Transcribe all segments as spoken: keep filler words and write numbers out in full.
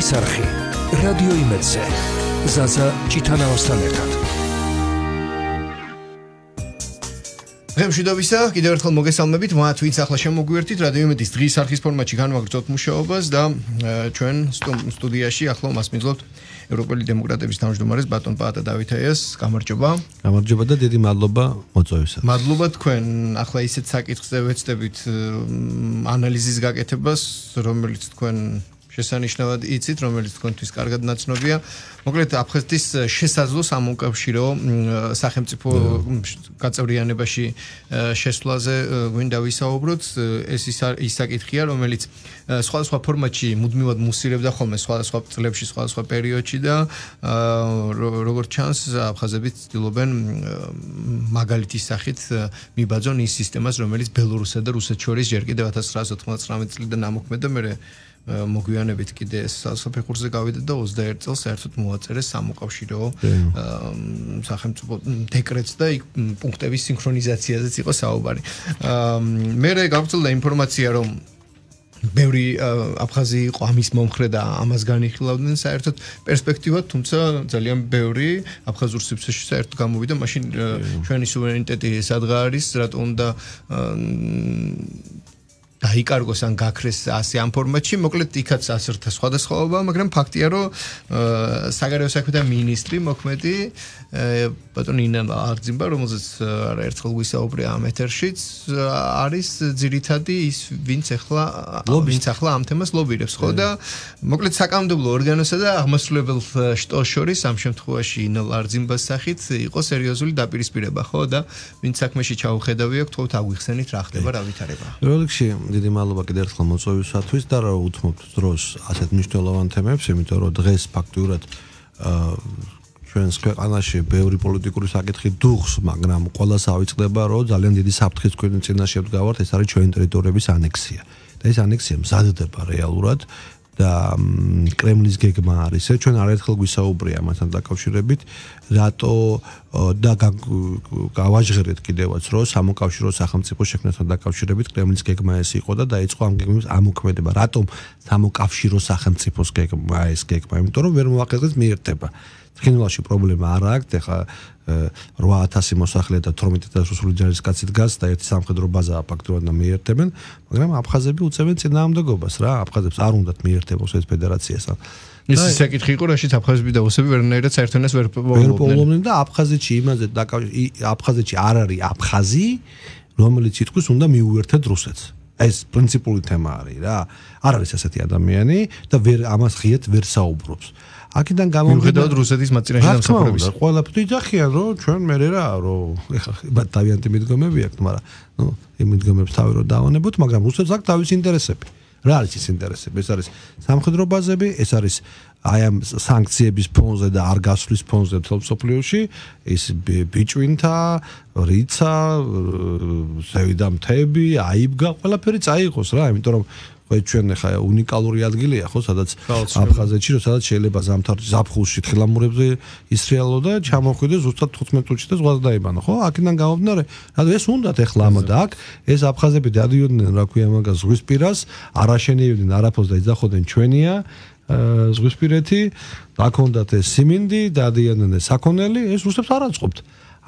დღის არხი რადიო იმედზე ზაზა ჭიტანავასთან ერთად. Მშვიდობისა, კიდევ ერთხელ მოგესალმებით, მათ ვინც ახლა შემოგვიერთით რადიო იმედის დღის არხის ფორმატში განვაგრძობთ მუშაობას და ჩვენ სტუდიაში ახლა მასმიძლობთ ევროპელი დემოკრატების თავმჯდომარეს ბატონ პაატა დავითაიას. გამარჯობა. გამარჯობა და დიდი მადლობა მოწვევისას. მადლობა თქვენ ახლა ისეთ საკითხზე ვეცდებით ანალიზის გაკეთებას, რომელიც თქვენ შესანიშნავად იცით, რომელიც თქვენთვის კარგად ნაცნობია. მოკლედ აფხაზეთის შესაძლო სამომკავშირო სახელმწიფო გაწევრიანებაში შესვლაზე გვინდა ვისაუბროთ. ეს ის საკითხია, რომელიც სხვადასხვა ფორმატში მუდმივად მუსირებდა ხოლმე სხვადასხვა წლებში, სხვადასხვა პერიოდში და როგორც ჩანს, აფხაზები ცდილობენ მაგალითის სახით მიბაძონ ის სისტემას, რომელიც ბელორუსსა და რუსეთს შორის ჯერ კიდევ ათას ცხრაასი ოცდაათი წლიდან ამოქმედა, მერე მოგვიანებით კიდე საფეხურზე გავიდა და ოცდაერთი წელს საერთოდ მოაწერეს სამოკავშირო სახელმწიფო დეკრეტს და იქ პუნქტების სინქრონიზაციაზეც იყო საუბარი. მერე გავრცელდა ინფორმაცია, რომ ბევრი აფხაზი იყო ამის მომხრე და ამას განიხილავდნენ საერთოდ პერსპექტივად, თუმცა ძალიან ბევრი აფხაზურ სივრცეში საერთოდ გამოვიდა, მაშინ ჩვენი სუვერენიტეტი სადღა არის, რატო უნდა დაიკარგოს ან გაქრეს ასე ამ ფორმატში, მოკლედ იქაც ასერთა სხვადასხვაობა, მაგრამ ფაქტია, რომ საგარეო საქმეთა მინისტრი მოქმედი ბატონ ინა აღძიმბა, რომელზეც არაერთხელ ვისაუბრე ამ ეთერშიც, არის ძირითადი ის, ვინც ახლა ვინც ახლა ამ თემას ლობირებს, ხო და მოკლედ საკანონმდებლო ორგანოსა და აღმასრულებელ შტოს შორის ამ შემთხვევაში ინა აღძიმბას სახით იყო სერიოზული დაპირისპირება, ხო და ვინც საქმეში ჩაუხედავია, თქვათ აგვიხსენით რა ხდება, რა ვითარება. როლიქში დიდი მადლობა კიდევ ერთხელ მოწვევისათვის და რა უთმობთ დროს ასეთ მნიშვნელოვან თემებს, იმიტომ რომ დღეს ფაქტიურად ჩვენს ქვეყანაში ბევრი პოლიტიკური საკითხი დუხს, მაგრამ ყველას ავიწყდება, რომ ძალიან დიდი საფრთხის წინაშე ვდგავართ, ეს არის ჩვენი ტერიტორიების ანექსია. და ეს ანექსია მზადდება რეალურად და კრემლის გეგმა არის. ჩვენ არაერთხელ გვისაუბრია ამასთან დაკავშირებით, რატო და გავაჟღერეთ კიდევაც, რომ სამოკავშირო სახელმწიფო შექმნასთან დაკავშირებით კრემლის გეგმა ეს იყო და დაიწყო ამ გეგმის ამოქმედება. რატომ სამოკავშირო სახელმწიფოს გეგმა ეს გეგმა? იმიტომ რომ ვერ მოახერხეს მიერთება. ცხინვალში პრობლემა არ აქვს, ეხლა რვა ათასი მოსახლე და თორმეტ ათას რუსული ჯარისკაცი დგას და ერთი სამხედრო ბაზაა ფაქტობრივად და მიერთებენ, მაგრამ აფხაზები უწევენ წინააღმდეგობას რა, აფხაზებს არ უნდათ მიერთება რუსეთის ფედერაციასთან. ეს საკითხი იყო, რაშიც აფხაზები და რუსები ვერნაირად საერთონეს ვერ პოულობდნენ და აფხაზეთში იმაზე აფხაზეთში არ არის აფხაზი, რომელიც ითქვის უნდა მიუერთეთ რუსეთს. ეს პრინციპული თემა არის რა. არ არის ასეთი ადამიანი და ვერ ამას ღიად ვერ საუბრობს. აქედან გამომდინარე რუსეთის მაწინააღმდეგე დამსახურების ყველაფერი ძახიან, რომ ჩვენ მერე რა, რომ ეხლა დავიანტი მიდგომები აქვს, მაგრამ ნუ იმ მიდგომებს თავი რომ დავანებოთ, მაგრამ რუსეთს აქვს თავისი ინტერესები. რა არის ეს ინტერესები? ეს არის სამხედრო ბაზები, ეს არის აი ამ სანქციების ფონზე და არ გასვლის ფონზე მთელ მსოფლიოში, ის ბიჭვინთა, რიცა, ზევიდა მთები, აიბგა, ყველაფერი წაიღოს რა, იმიტომ რომ ჩვენ ახლა უნიკალური ადგილია ხო, სადაც აფხაზეთში, სადაც შეიძლება ზამთარში ზაფხულში თხილამურებზე ისრიალო და ჩამოხვიდეს ზუსტად თხუთმეტ წუთში და ზღვას დაიბანო, ხო? აქედან გამომდინარე, რა ეს უნდათ ახლა ამა და აქ ეს აფხაზები დადიოდნენ, რა ქვია მაგას, ზღვისპირას, არაშენიებდნენ არაფერს და იძახოდნენ ჩვენია ზღვისპირეთი, დაქონდათ ეს სიმინდი, დადიოდნენ საქონელი, ეს რუსებს არ აწყობთ.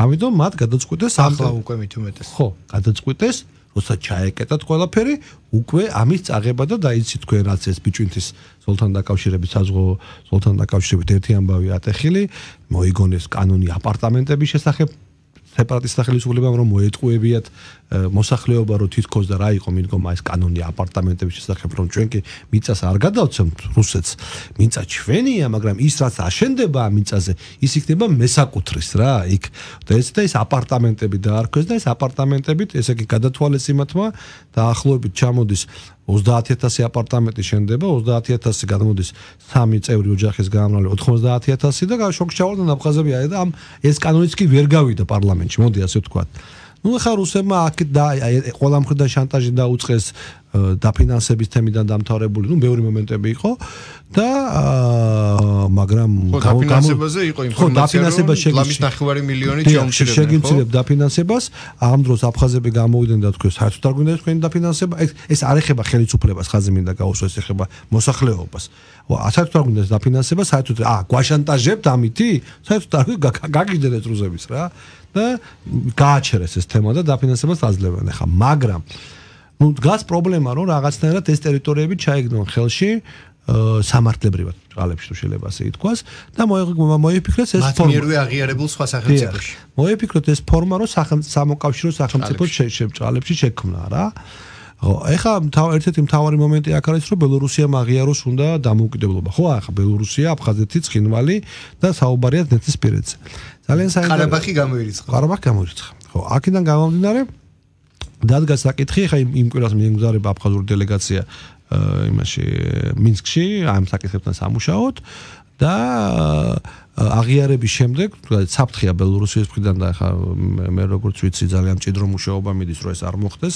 ამიტომ მათ გადაწყვიტეს ახლა უკვე მით უმეტეს. ხო, გადაწყვიტეს როცა ჩაეკეტათ ყველაფერი, უკვე ამის წაღება და დაიცით თქვენ რაც ეს ბიჭვინთის ზოლთან დაკავშირებით, საზღვაო ზოლთან დაკავშირებით ერთი ამბავი ატეხილი, მოიგონეს კანონი აპარტამენტების შესახებ სეპარატისტთა ხელისუფლებამ, რომ მოეტყუებიათ მოსახლეობა, რომ თითქოს და რა იყო მიდგომა ეს კანონი აპარტამენტების შესახებ, რომ ჩვენ კი მიწას არ გადავცემთ რუსეთს, მიწა ჩვენია, მაგრამ ის რაც აშენდება ამ მიწაზე, ის იქნება მესაკუთრის რა, იქ და ეს და ეს აპარტამენტები დაარქვეს და ეს აპარტამენტებით, ესე იგი გადათვალეს იმათმა და ახლობით ჩამოდის ოცდაათი ათასი აპარტამენტი შენდება, ოცდაათი ათასი გამოდის სამი წევრი ოჯახის გამომრავლე ოცდაათი ათასი და შოკში ჩავარდნენ აფხაზები და ამ ეს კანონიც კი ვერ გავიდა პარლამენტში, მოდი ასე ვთქვათ. ნუ ახლა რუსებმა აქ და ყველა მხრიდან შანტაჟი დაუწყეს დაფინანსების თემიდან დამთავრებული, ნუ ბევრი მომენტები იყო და მაგრამ დაფინანსებაზე იყო ინფორმაცია, რომ ლამის ნახევარი მილიონი ჩაუმჩნევდნენ. შეგიმცირებ დაფინანსებას, ამ დროს აფხაზები გამოვიდნენ და თქვენ საერთოდ არ გვინდა თქვენი დაფინანსება. ეს არ ეხება ხელისუფლებას, ხაზი მინდა გაუსვას, ეხება მოსახლეობას. საერთოდ არ გვინდა დაფინანსება, საერთოდ აა გვაშანტაჟებთ ამითი? საერთოდ არ გაგიჯდეთ რუსების რა და გააჩერეს ეს თემა და დაფინანსებას აძლევენ ახლა, მაგრამ ну დგას პრობლემა რომ რაღაცნაირად ეს ტერიტორიები ჩაიგდონ ხელში სამართლებრივად ძალებში თუ შეიძლება ასე ითქვას და მოიფიქრეს ეს ფორმა მათმიერვე აღიარებულ სხვა სახელმწიფოში მოიფიქრეთ ეს ფორმა რომ სამოკავშირო სახელმწიფო ძალებში შექმნა რა ხო ეხლა ერთ-ერთი მთავარი მომენტი აქ არის რომ ბელორუსიამ აღიაროს უნდა დამოუკიდებლობა ხო ახლა ბელორუსია აფხაზეთი ცხინვალი და საუბარია დნესტრისპირეთზე ძალიან საინტერესო ყარაბაღი გამოირიცხა ყარაბაღი გამოირიცხა ხო აქედან გამომდინარე დადგა საკითხი ხა იმ კვირას მიემგზავრება აფხაზური დელეგაცია იმაში მინსკში ამ საკითხებთან სამუშაოდ და აღიარების შემდეგ საფრთხეა ბელორუსიის მხრიდან და ხა მე როგორც ვიცი ძალიან მჭიდრო მუშაობა მიდის რომ ეს არ მოხდეს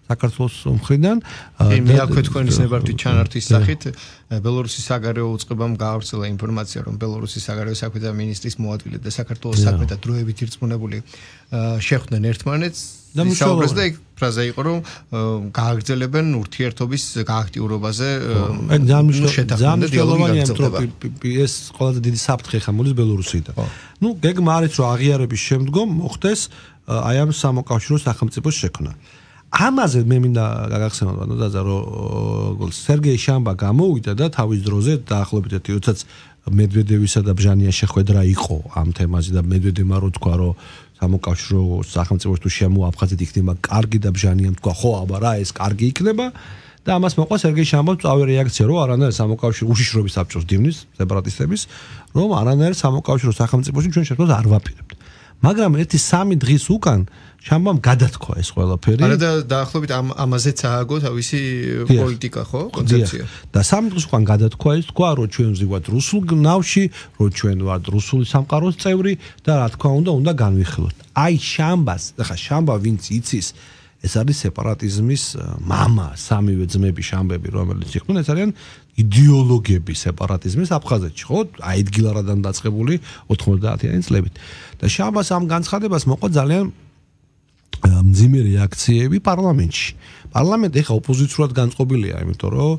საქართველოს მხრიდან მე აქვე თქვენის ნებართვით ჩანართის სახით ბელორუსის საგარეო უწყებამ გაავრცელა ინფორმაცია რომ ბელორუსის საგარეო საქმეთა მინისტრის მოადგილე და საქართველოს საქმეთა დროებით ირწმუნებული შეხვდნენ ერთმანეთს და მუშაობას და იქ ფრაზა იყო რომ გააგრძელებენ ურთიერთობის გააქტიურებაზე დამშელოვანი ეს ყველაზე დიდი საფრთხე ხა მოდის ბელორუსიდან ნუ გეგმა არის რომ აღიარების შემდგომ მოხდეს აი ამ სამოკავშირო სახელმწიფოს შექმნა ამაზე მე მინდა გაგახსენოთ ბატონო დაზა რომ სერგეი შამბა გამოვიდა და თავის დროზე დაახლოებით როდესაც მედვედევისა და ბჟანიას შეხვედრა იყო ამ თემაზე და მედვედევმა რო თქვა რომ სამოკავშირო სახელმწიფოს თუ შემოაფხაზეთ იქნება კარგი და ბჟანიამ თქვა ხო აბა რა ეს კარგი იქნება და ამას მოყვა სერგეი შამბას წავე რეაქცია რომ არანაირ სამოკავშირო უშიშრობის საბჭოს დივნის სეპარატისტების რომ არანაირ სამოკავშირო სახელმწიფოში ჩვენ შეხვედრას არ ვაპირებთ მაგრამ ერთი სამი დღის უკან შამბამ გადათქვა ეს ყველაფერი. არა და დაახლოებით ამ ამაზეც ააგო თავისი პოლიტიკა, ხო? კონცეფცია. და სამი დღის უკან გადათქვა ის თქვა, რომ ჩვენ ვზივართ რუსულ ნავში, რომ ჩვენ ვართ რუსული სამყაროს წევრი და რა თქმა უნდა, უნდა განვიხილოთ. აი შამბას, ხა შამბა ვინც იცის, ეს არის სეპარატიზმის мама, სამივე ძმები შამბები, რომელიც იყვნენ, ეს არიან იდეოლოგები სეპარატიზმის აფხაზეთში, ხო? აიდგილარადან დაწყებული ოთხმოცდაათიანი წლებით. და შამბას ამ განცხადებას მოყვა ძალიან მძიმე რეაქციები პარლამენტში. პარლამენტი ახლა ოპოზიციურად განწყობილია, იმიტომ რომ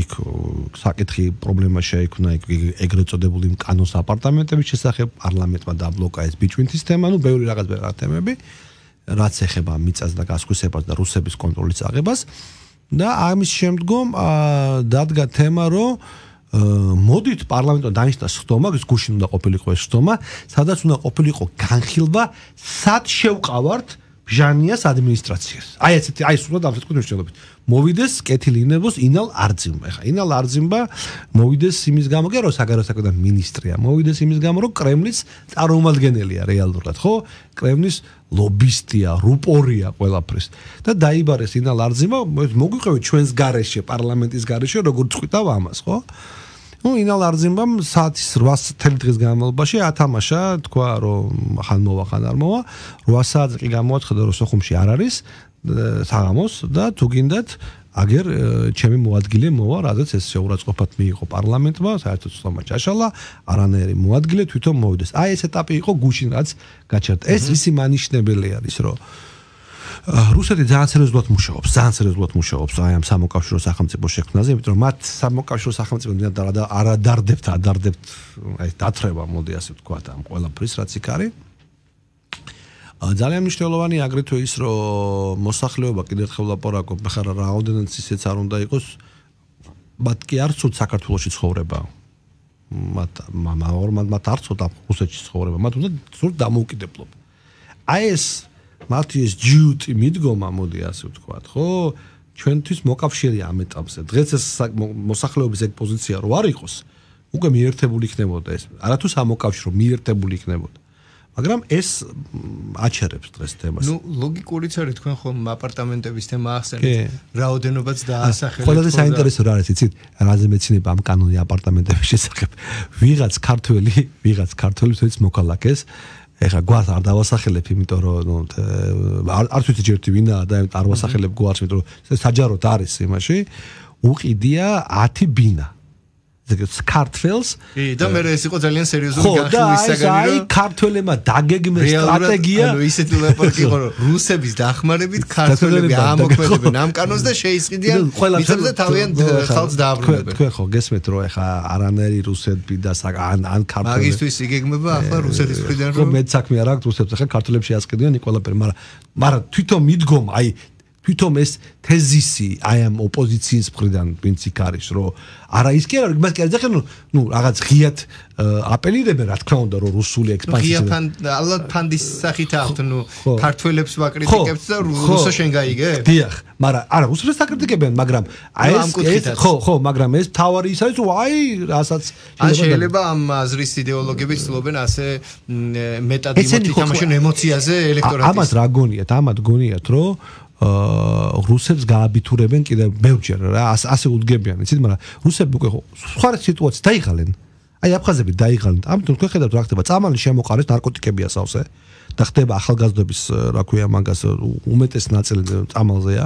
იქ საკითხი პრობლემა შეიქმნა იქ ეგრეთ წოდებული კანოს აპარტამენტების შესახებ პარლამენტმა დაბლოკა ეს ბიჭვინთის თემა, ну ბევრი რაღაც თემები, რაც ეხება მიწას და გასხვისებას და რუსების კონტროლის აღებას და ამის შემდგომ დადგა თემა, რომ მოდით პარლამენტმა დანიშნა სხდომა, ის გუშინ უნდა ყოფილიყო ეს სხდომა, სადაც უნდა ყოფილიყო განხილვა, სად შევყავართ ბჟანიას ადმინისტრაციას. აი ესეთი, აი სულად ამ საკითხით მნიშვნელობით. მოვიდეს კეთილი ინებოს ინალ არძიმბა. ეხა ინალ არძიმბა მოვიდეს იმის გამო, კი რომ საგარეო საქმეთა მინისტრია, მოვიდეს იმის გამო, რომ კრემლის წარმომადგენელია რეალურად, ხო? კრემლის ლობისტია, რუპორია ყველაფრის. და დაიბარეს ინალ არძიმბა, მოგვიყევით ჩვენს გარეშე, პარლამენტის გარეშე, როგორ წყვიტავ ამას, ხო? ну ინალ არძიმბამ საათის რვას დღის განმავლობაში ათამაშა თქვა რომ ხან მოვა ხან არ მოვა რვა საათი კი გამოაცხადა რომ სოხუმში არ არის საღამოს და თუ გინდათ აგერ ჩემი მოადგილე მოვა რადგან ეს შეურაცხყოფად მიიღო პარლამენტმა საერთოდ სხდომა ჩაშალა არანაირი მოადგილე თვითონ მოვიდეს აი ეს ეტაპი იყო გუშინ რაც გაჩერდა ეს ისი მანიშნებელი არის რომ რუსეთი ძალიან სერიოზულად მუშაობს, ძალიან სერიოზულად მუშაობს აი ამ სამოკავშირო სახელმწიფოს შექმნაზე, იმიტომ რომ მათ სამოკავშირო სახელმწიფო არადარდებთ, ადარდებთ, აი დათრება, მოდი ასე ვთქვათ, ამ ყველაფრის რაც იქ არის. ძალიან მნიშვნელოვანი აგრეთვე ის, რომ მოსახლეობა კიდევ ერთხელ ლაპარაკობ, ხარ რაოდენიც ისეც არ უნდა იყოს, მათ კი არ ცუდ საქართველოში ცხოვრება. მათ მამაორმად მათ არ ცუდ რუსეთში ცხოვრება, მათ უნდა ცუდ დამოუკიდებლობა. აი ეს მათი ეს ჯიუტი მიდგომა მოდი ასე ვთქვათ, ხო? ჩვენთვის მოკავშირეა ამ ეტაპზე. დღეს ეს მოსახლეობის ეგ პოზიცია რო არ იყოს, უკვე მიერთებული იქნებოდა ეს. არათუ სამოკავშირო მიერთებული იქნებოდა. მაგრამ ეს აჩერებს დღეს თემას. ნუ ლოგიკურიც არის თქვენ ხომ აპარტამენტების თემა ახსენეთ. რაოდენობაც დაასახელეთ. ყველაზე საინტერესო რა არის, იცით? რაზე მეცნიერება ამ კანონი აპარტამენტების შესახებ. ვიღაც ქართველი, ვიღაც ქართველი თვითონ მოქალაქეს ეხა გვარს არ დავასახელებ, იმიტომ რომ ნუ არც ვიცი ჯერ ვინაა და არ ვასახელებ გვარს, იმიტომ რომ საჯაროდ არის იმაში, უყიდია ათი ბინა. ქართველს და მე ეს იყო ძალიან სერიოზული განხილვის საგანი რომ აი ქართველებმა დაგეგმეს სტრატეგია ანუ ისეთი ლაპარაკი იყო რომ რუსების დახმარებით ქართველები ამოქმედებენ ამ კანონს და შეისყიდიან მიწებს და თავიანთ ხალხს დააბრუნებენ თქვენ ხო გესმით რომ ეხა არანაირი რუსები და ან ან ქართველები მაგისთვის იგეგმება ახლა რუსეთის მხრიდან რომ მე საქმე არ აქვს რუსებს ახლა ქართველებს შეასყიდიან ყველაფერი მაგრამ მაგრამ თვითონ მიდგომ აი თვითონ ეს თეზისი აი ამ ოპოზიციის მხრიდან ვინც იქ არის რომ არა ის კი არა მას კი არ ძახენ ნუ რაღაც ღიათ აპელირებენ რა თქმა უნდა რომ რუსული ექსპანსია ღია ფან ალბათ ფანდის სახით აქვთ ნუ ქართველებს ვაკრიტიკებთ და რუსო შენ გაიგე დიახ მაგრამ არა რუსებს აკრიტიკებენ მაგრამ აი ეს ხო ხო მაგრამ ეს თავარი ის არის რომ აი რასაც ან შეიძლება ამ აზრის იდეოლოგები ცდილობენ ასე მეტად ითამაშონ ემოციაზე ელექტორატის ამას რა გონიათ ამათ გონიათ რომ აა რუსებს გააბიტურებენ კიდე ბევრჯერ რა ასე უდგებიან იცით მაგრამ რუსები უკვე სხვა სიტუაცია დაიღალენ აი აფხაზები დაიღალენ ამიტომ თქვენ ხედავთ რა ხდება წამალი შემოყარეს ნარკოტიკები ასავსე და ხდება ახალგაზრდობის რა ქვია მაგას უმეტეს ნაწილი წამალზეა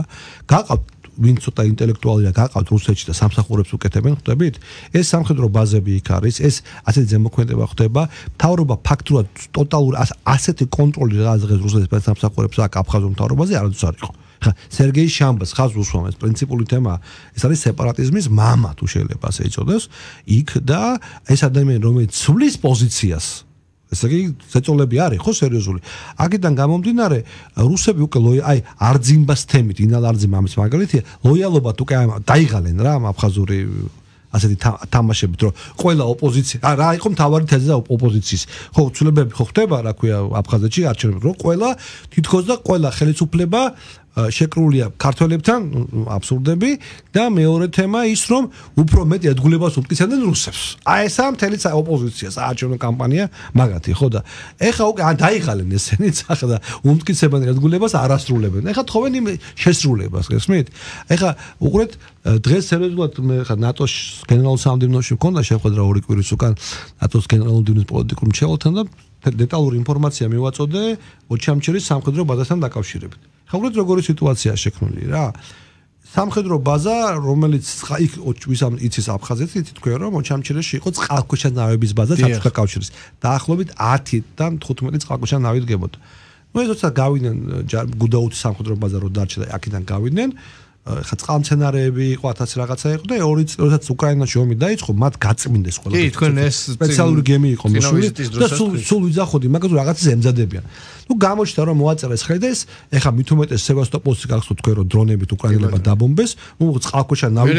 გაყავთ ვინ ცოტა ინტელექტუალია გაყავთ რუსეთში და სამსახურებს უკეთებენ ხვდებით ეს სამხედრო ბაზები იქ არის ეს ასეთი ზემოქმედება ხდება მთავრობა ფაქტურად ტოტალური ასეთი კონტროლი რაღაც დღეს რუსეთის სამსახურებს აქვს აფხაზურ მთავრობაზე არასდროს არ იყო ხა სერგეი შამბას ხაზ უსვამს ეს პრინციპული თემაა ეს არის სეპარატიზმის მამა თუ შეიძლება ასე იწოდეს იქ და ეს ადამიანი რომელიც ცვლის პოზიციას ესე იგი ზეწოლები არის ხო სერიოზული აქედან გამომდინარე რუსები უკვე აი არძიმბას თემით ინალ არძიმ ამის მაგალითია ლოიალობად უკვე დაიღალენ რა ამ აფხაზური ასეთი თამაშებით რომ ყველა ოპოზიცია რა იყო მთავარი თეზა ოპოზიციის ხო ცვლილებები ხო ხდება რა ქვია აფხაზეთში არჩევნები რომ ყველა თითქოს და ყველა ხელისუფლება შეკრულია ქართველებთან აბსურდები და მეორე თემა ის რომ უფრო მეტი ედგულებას უმტკიცებენ რუსებს. აი ესა მთელი ოპოზიცია საარჩევნო კამპანია მაგათი ხო და ეხა უკვე დაიღალენ ესენიც ახლა და უმტკიცებენ ედგულებას არასრულებენ. ეხა თხოვენ იმ შესრულებას გესმით? ეხა უყურეთ დღეს სერიოზულად მე ხა ნატოს გენერალურ სამდივნოში მქონდა შეხვედრა ორი კვირის უკან ნატოს გენერალურ დივიზიის პოლიტიკურ მრჩეველთან და დეტალური ინფორმაცია მივაწოდე ოჩამჩირის სამხედრო ბაზასთან დაკავშირებით. ხა უყურეთ როგორი სიტუაციაა შექმნილი რა. სამხედრო ბაზა, რომელიც იქ ვისამ იცის აფხაზეთი, თქვენ რომ ოჩამჩირეში იყო წყალქვეშა ნავების ბაზა საბჭოთა კავშირის. დაახლოებით ათიდან თხუთმეტი წყალქვეშა ნავი დგებოდა. ნუ ეს როცა გავიდნენ გუდაუთის სამხედრო ბაზა რო დარჩა და აქედან გავიდნენ ხა წყალმცენარეები იყო ათასი რაღაცა იყო და ორი წელი როდესაც უკრაინაში ომი დაიწყო მათ გაწმინდეს ყველა. კი, თქვენ ეს სპეციალური გემი იყო მოსული და სულ სულ ვიძახოდი მაგას რაღაცას ემზადებიან. ნუ გამოჩნდა რომ მოაწერეს ხელი და ეს ეხა მით უმეტეს სევასტოპოლში გახსოვთ თქვენ რომ დრონებით უკრაინელებმა დაბომბეს, ნუ წყალქვეშა ნავი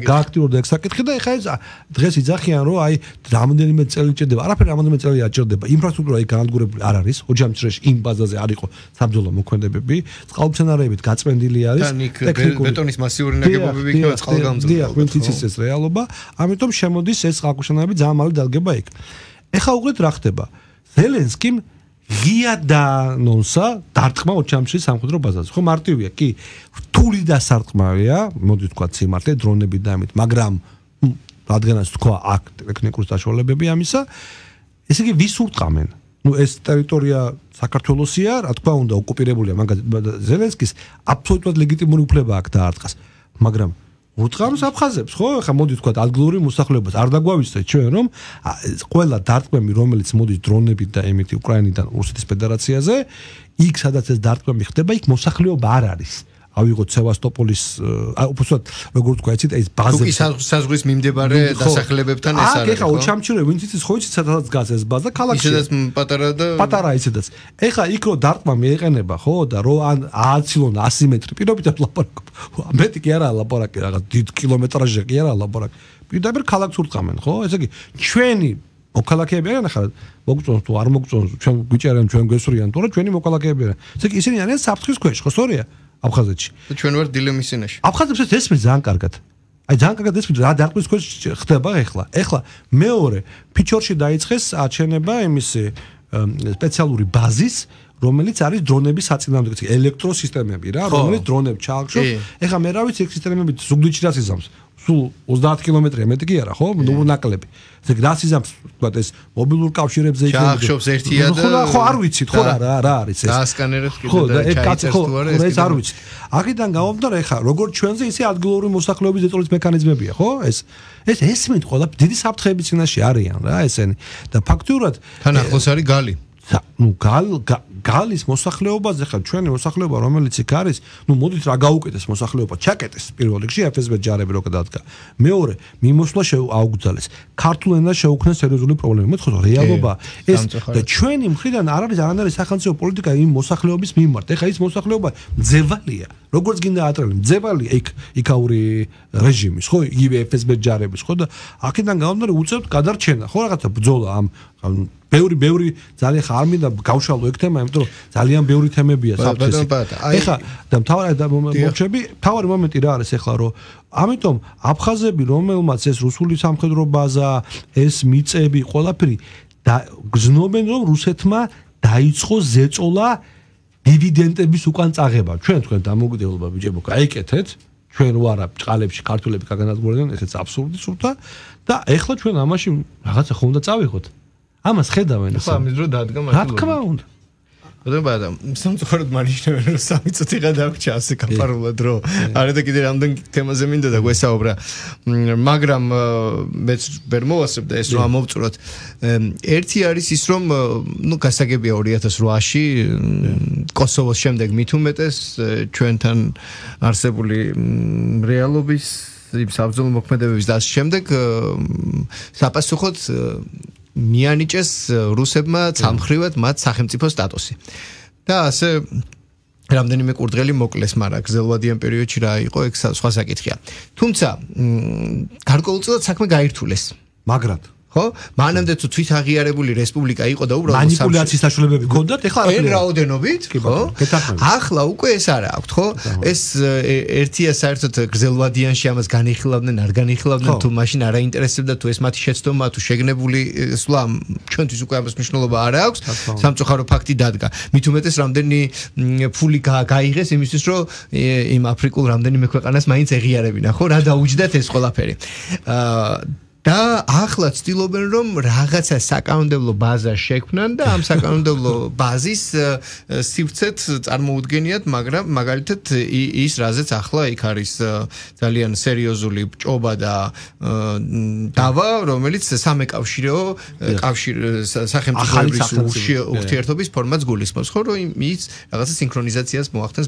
გააქტიურდა ეს საკითხი და ეხა ეს დღეს იძახიან რომ აი რამდენიმე წელი ჭირდება, არაფერი რამდენიმე წელი არ ჭირდება, ინფრასტრუქტურა იქ განადგურებული არ არის, ოჯამჭრეში იმ ბაზაზე არ იყო საბრძოლო მოქმედებები, წყალმცენარეებით გაწმენდილი არის ბეტონის მასიური ნაგებობები იქნება წყალგამძლე. დიახ, ვინც იცის ეს რეალობა, ამიტომ შემოდის ეს წყალქვეშანავები ძალიან მალე დადგება იქ. ეხა უყურეთ რა ხდება. ზელენსკიმ ღია დანონსა დარტყმა ოჩამჩრის სამხედრო ბაზაზე. ხო მარტივია, კი, რთული დასარტყმავია, მოდი ვთქვა სიმართლე, დრონები და ამით, მაგრამ რადგანაც თქვა აქ ტექნიკური საშუალებები ამისა, ესე იგი ვის ურტყამენ? ნუ ეს ტერიტორია საქართველოსია, რა თქმა უნდა, ოკუპირებულია, მაგალითად ზელენსკის აბსოლუტურად ლეგიტიმური უფლება აქვს დაარტყას. მაგრამ ურტყამს აფხაზებს, ხო? ხა მოდი ვთქვა ადგილური მოსახლეობას არ დაგვავიცდეთ ჩვენ რომ ყველა დარტყმები, რომელიც მოდის დრონებით და ემეთი უკრაინიდან რუსეთის ფედერაციაზე, იქ სადაც ეს დარტყმები ხდება, იქ მოსახლეობა არ არის. ავიღოთ სევასტოპოლის, უბრალოდ როგორ თქვა, იცით, ეს ბაზები. თუ საზღვრის მიმდებარე დასახლებებთან ეს არის. აქ ეხა ოჩამჩირე, ვინც იცის, ხო იცით, სადაც დგას ეს ბაზა, ქალაქში. ისედაც პატარა და პატარა ისედაც. ეხა იქ რო დარტყმა მიეყენება, ხო, და რო ან ააცილონ ასი მეტრი პირობითად ლაპარაკობ. მეტი კი არაა ლაპარაკი, რაღაც დიდ კილომეტრაჟზე კი არაა ლაპარაკი. პირდაპირ ქალაქს ურტყამენ, ხო? ესე იგი, ჩვენი მოქალაქეები არიან ახლა მოგწონს თუ არ მოგწონს, ჩვენ გვიჭერენ, ჩვენ გვესვრიან, თორე ჩვენი მოქალაქეები არიან. ესე იგი, ისინი არიან საფრთხის ქვეშ, ხო, სწორია? აფხაზეთში. და ჩვენ ვარ დილემის წინაშე. აფხაზებს ეს ესმის ძალიან კარგად. აი ძალიან კარგად ესმის რა დარტყმის ქვეშ ხდება ეხლა. ეხლა მეორე ფიჩორში დაიწყეს აჩენება იმისი სპეციალური ბაზის, რომელიც არის დრონების საწინააღმდეგო ელექტროსისტემები რა, რომელიც დრონებს ჩაახშობს. ეხლა მე რა ვიცი, ეს სისტემები ზუგდიდში რას იზამს? სულ ოცდაათ კილომეტრი მეტი კი არა, ხო? ნუ ნაკლები. ეგ რა სიზამს თქვა ეს მობილურ კავშირებზე იქნება. ჩაახშობს ერთია და ხო არ ვიცით, ხო რა რა არის ეს. დაასკანერებს კიდე და ჩაიწერს თუ არა ეს. ეს არ ვიცით. აქედან გამომდინარე ეხა როგორც ჩვენზე ისე ადგილობრივი მოსახლეობის ზეწოლის მექანიზმებია, ხო? ეს ეს ესმით ყველა დიდი საფრთხეების წინაშე არიან რა ესენი და ფაქტურად თან ახლოს არის გალი. ნუ გალ გალის მოსახლეობაზე ხა ჩვენი მოსახლეობა რომელიც იქ არის, ნუ მოდით რა გაუკეთეს მოსახლეობა, ჩაკეტეს პირველ რიგში ეფ ეს ბე ჯარები რო გადადგა. მეორე, მიმოსვლა შეაუგზალეს. ქართულ ენას შეუქმნეს სერიოზული პრობლემები. მე თქო რეალობა ეს და ჩვენი მხრიდან არ არის არანაირი სახელმწიფო პოლიტიკა იმ მოსახლეობის მიმართ. ეხა ის მოსახლეობა ძევალია. როგორც გინდა ატრელი, ძევალია იქ იქაური რეჟიმის, ხო, იგივე ეფ ეს ბე ჯარების, ხო და აქედან გამომდინარე უწევთ გადარჩენა, ხო რაღაცა ბრძოლა ამ ბევრი ბევრი ძალიან ხარ მინდა გავშალო ეგ თემა, იმიტომ რომ ძალიან ბევრი თემებია საფრთხეს. ეხლა და მთავარი მომენტები, მთავარი მომენტი რა არის ეხლა რომ ამიტომ აფხაზები რომელმაც ეს რუსული სამხედრო ბაზა, ეს მიწები, ყველაფერი და გზნობენ რომ რუსეთმა დაიწყო ზეწოლა დივიდენდების უკან წაღება. ჩვენ თქვენ დამოუკიდებლობა ბიჭებო, გაიკეთეთ. ჩვენ ვარა ბჭყალებში ქართველები გაგანადგურებდნენ, ესეც აბსურდი სულთა და ეხლა ჩვენ ამაში რაღაცა ხომ უნდა წავიღოთ. ამას ხედავენ ხო ამის დრო დადგა მაშინ. რა თქმა უნდა. ბატონო, სამწუხაროდ მანიშნავენ რომ სამი წუთი გადავჭა ასე კაპარულად რომ არა და კიდე რამდენ თემაზე მინდა და გვესაუბრა. მაგრამ მეც ვერ მოვასწრებ და ეს რომ ამოვწუროთ. ერთი არის ის რომ ნუ გასაგებია ორი ათას ოთხში კოსოვოს შემდეგ მით უმეტეს ჩვენთან არსებული რეალობის იმ საბრძოლო მოქმედებების და ამ შემდეგ საპასუხოდ მიანიჭეს რუსებმა ცალმხრივად მათ სახელმწიფო სტატუსი. და ასე რამდენიმე კურდღელი მოკლეს, მაგრამ გრძელვადიან პერიოდში რა იყო, ეგ სხვა საკითხია. თუმცა გარკვეულწილად საქმე გაირთულეს. მაგრად ხო? მანამდე თუ თვითაღიარებული რესპუბლიკა იყო და უბრალოდ მანიპულაციის საშუალებები ჰქონდათ, ეხლა არ რაოდენობით, ხო? ახლა უკვე ეს არა აქვთ, ხო? ეს ერთია საერთოდ გრძელვადიანში ამას განიხილავდნენ, არ განიხილავდნენ, თუ მაშინ არ აინტერესებდა თუ ეს მათი შეცდომა, თუ შეგნებული სვლა, ჩვენთვის უკვე ამას მნიშვნელობა არ აქვს. სამწუხარო ფაქტი დადგა. მით უმეტეს რამდენი ფული გაიღეს იმისთვის, რომ იმ აფრიკულ რამდენიმე ქვეყანას მაინც ეღიარებინა, ხო? რა დაუჯდათ ეს ყველაფერი. აა და ახლა ცდილობენ რომ რაღაცა საკანონმდებლო ბაზა შექმნან და ამ საკანონმდებლო ბაზის სივრცეთ წარმოუდგენიათ, მაგრამ მაგალითად ის რაზეც ახლა იქ არის ძალიან სერიოზული ჭობა და დავა, რომელიც სამეკავშირეო კავშირ სახელმწიფოების ურთიერთობის ფორმატს გულისხმობს, ხო, რომ ის რაღაცა სინქრონიზაციას მოახდენს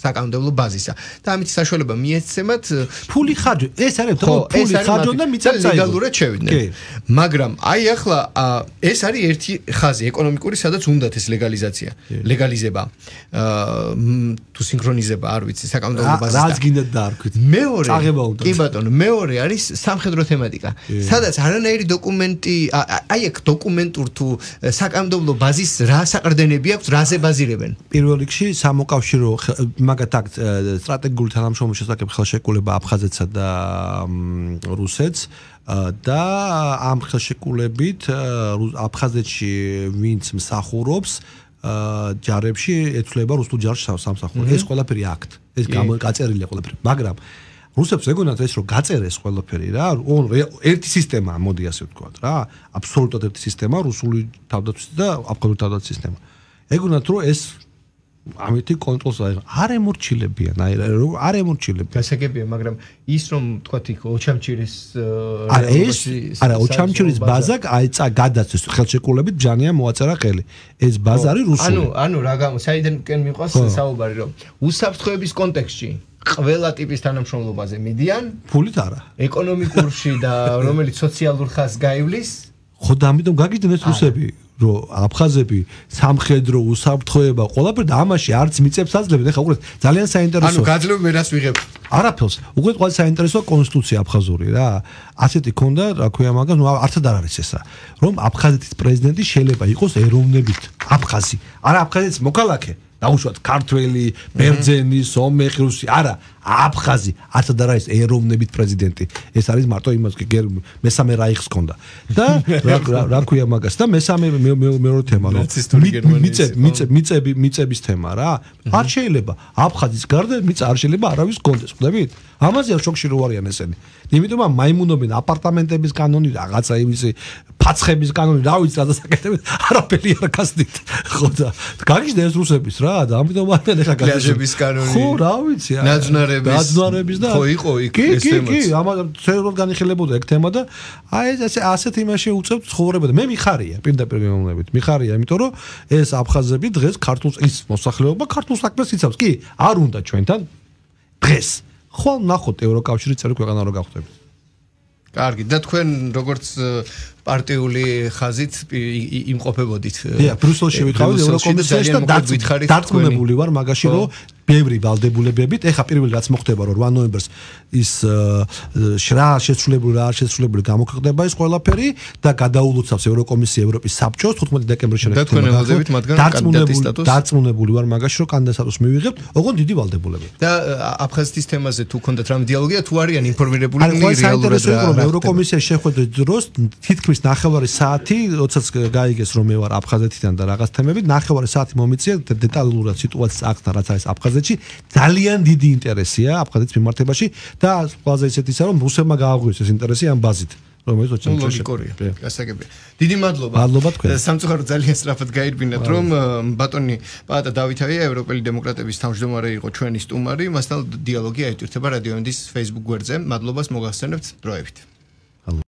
საკანონმდებლო ბაზისა. და ამით საშუალება მიეცემათ ფული ხარჯ, ეს არის ფული ხარჯ და მიწა ლეგალურად შევიდნენ. მაგრამ აი ახლა ეს არის ერთი ხაზი ეკონომიკური, სადაც უნდათ ეს ლეგალიზაცია, ლეგალიზება, თუ სინქრონიზება, არ ვიცი, საკანონმდებლო ბაზისთან. რაც გინდათ დაარქვით. მეორე, კი ბატონო, მეორე არის სამხედრო თემატიკა. სადაც არანაირი დოკუმენტი, აი აქ დოკუმენტურ თუ საკანონმდებლო ბაზის რა საყრდენები აქვს, რაზე ბაზირებენ? პირველ რიგში სამოკავშირო მაგათ აქ სტრატეგიული თანამშრომლობის შესახებ ხელშეკრულება აფხაზეთსა და რუსეთს და ამ ხელშეკრულებით აფხაზეთში ვინც მსახურობს ჯარებში ეცვლება რუსულ ჯარში სამსახური. ეს ყველაფერი აქტ, ეს გაწერილია ყველაფერი. მაგრამ რუსებს ეგონათ ეს რომ გაწერეს ყველაფერი რა, ერთი სისტემა, მოდი ასე ვთქვათ რა, აბსოლუტურად ერთი სისტემა, რუსული თავდაცვის და აფხაზური თავდაცვის სისტემა. ეგონათ რომ ეს ამითი კონტროლს არ ემორჩილებიან, აი არ ემორჩილებიან. გასაგებია, მაგრამ ის რომ თქვათ იქ ოჩამჩირის არა ეს არა ოჩამჩირის ბაზა აი წა გადაცეს ხელშეკრულებით ბჟანია მოაწერა ხელი. ეს ბაზა არის რუსული. ანუ ანუ რა გამო საიდანკენ მიყვას საუბარი რომ უსაფრთხოების კონტექსტში ყველა ტიპის თანამშრომლობაზე მიდიან, ფულით არა. ეკონომიკურში და რომელიც სოციალურ ხაზს გაივლის. ხო და ამიტომ გაგიდნენ ეს რუსები. რომ აფხაზები სამხედრო უსაფრთხოება ყველაფერი და ამაში არც მიწებს აძლევენ. ეხლა უყურეთ ძალიან საინტერესო. ანუ გაძლევ მე რას ვიღებ? არაფერს. უყურეთ ყველა საინტერესო კონსტიტუცია აფხაზური რა. ასეთი ქონდა, რა ქვია მაგას, ნუ არცად არ არის ესა. რომ აფხაზეთის პრეზიდენტი შეიძლება იყოს ეროვნებით აფხაზი. არა აფხაზეთის მოქალაქე. დაუშვათ ქართველი, ბერძენი, სომეხი, რუსი, არა, აფხაზი, არც და რა ის ეროვნებით პრეზიდენტი. ეს არის მარტო იმას მესამე რაიხს ქონდა. და რა რა ქვია მაგას და მესამე მეორე თემა რომ მიწები მიწები მიწების თემა რა. არ შეიძლება აფხაზის გარდა მიწა არ შეიძლება არავის გქონდეს, ხვდებით? ამაზე შოქში რო არიან ესენი. იმიტომ რომ მაიმუნობენ აპარტამენტების კანონი, რაღაცა იმისი ფაცხების კანონი, რა ვიცი რა დასაკეთებენ, არაფერი არ გასდით. ხო და გაგიჟდა ეს რუსების რა და ამიტომ ამენ ეხა გასდების კანონი. ხო, რა ვიცი. ნაძვნარების ნაძვნარების და ხო იყო იქ ეს თემაც. კი, კი, ამას ცერულად განიხილებოდა ეგ თემა და აი ეს ასეთ იმაში უწევთ ცხოვრება და მე მიხარია, პირდაპირ გემოვნებით. მიხარია, იმიტომ რომ ეს აფხაზები დღეს ქართულს ის მოსახლეობა ქართულ საქმეს იცავს. კი, არ უნდა ჩვენთან დღეს ხო ნახოთ ევროკავშირის წევრი ქვეყანა რო გავხდებით. კარგი, და თქვენ როგორც პარტიული ხაზით იმყოფებოდით. დიახ, ბრიუსელში ვიყავით ევროკომისიაში და დარწმუნებული ვარ მაგაში, რომ ბევრი ვალდებულებებით, ეხა პირველი რაც მოხდება, რომ რვა ნოემბერს ის შრა შეცვლებული რა შეცვლებული გამოხდება ის ყველაფერი და გადაულოცავს ევროკომისია ევროპის საბჭოს თხუთმეტი დეკემბრის შენახება. და თქვენ ელოდებით მათგან კანდიდატის სტატუსს? დარწმუნებული ვარ მაგაში, რომ კანდიდატის სტატუსს მივიღებთ, ოღონდ დიდი ვალდებულებებით. და აფხაზეთის თემაზე თუ ქონდათ რამ დიალოგია, თუ არიან ინფორმირებული რეალურად რა ევროკომისიაში შეხვედრის დროს თითქმის ნახევარი საათი, როდესაც გაიგეს რომ მე ვარ აფხაზეთიდან და რაღაც თემებით, ნახევარი საათი მომიწია დეტალურად სიტუაციის აღწერა, რაც არის აფხაზეთში, ძალიან დიდი ინტერესია აფხაზეთის მიმართებაში და ყველაზე ისეთისა რომ რუსებმა გააღვიოს ეს ინტერესი ამ ბაზით. რომელიც ოჩან ლოგიკურია. გასაგებია. დიდი მადლობა. მადლობა თქვენ. სამწუხაროდ ძალიან სწრაფად გაირბინათ, რომ ბატონი პაატა დავითავია ევროპელი დემოკრატების თავმჯდომარე იყო ჩვენი სტუმარი, მასთან დიალოგი აიტვირთება რადიო ენდის Facebook გვერდზე. მადლობას მოგახსენებთ დროებით.